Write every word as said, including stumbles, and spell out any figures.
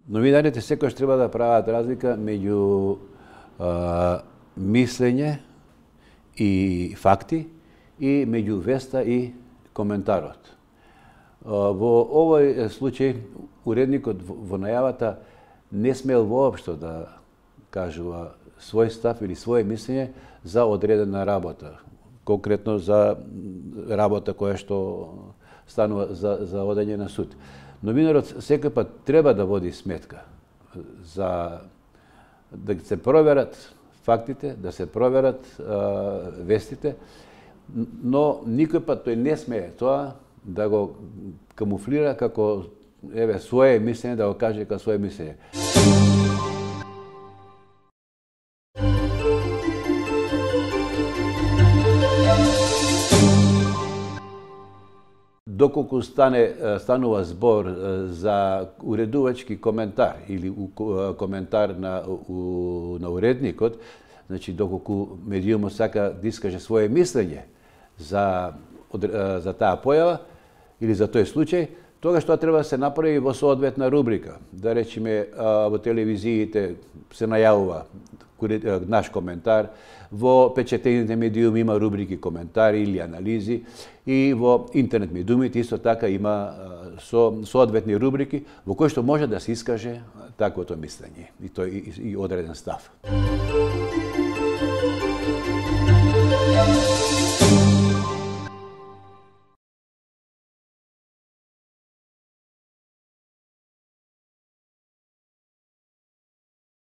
Новинарите секојаш треба да прават разлика меѓу а, мислење и факти и меѓу веста и коментарот. А, во овој случај уредникот во најавата не смел воопшто да кажува свој став или своје мислење за одредена работа, конкретно за работа која што станува за, за одење на суд. Новинарот секој пат треба да води сметка за да се проверат фактите, да се проверат а, вестите, но никој пат тој не смее тоа да го камуфлира како еве своje мислење, да го каже како своje мислење. Доколку стане станува збор за уредувачки коментар или коментар на у, на уредникот, значи доколку медиумот сака да искаже своje мислење за за таа појава или за тој случај, тогаш тоа треба да се направи во соодветна рубрика. Да речеме во телевизиите се најавува наш коментар, во печатените медиуми има рубрики коментари или анализи и во интернет медиумите исто така има со соодветни рубрики во кои што може да се искаже таквото мислење и тој и, и одреден став.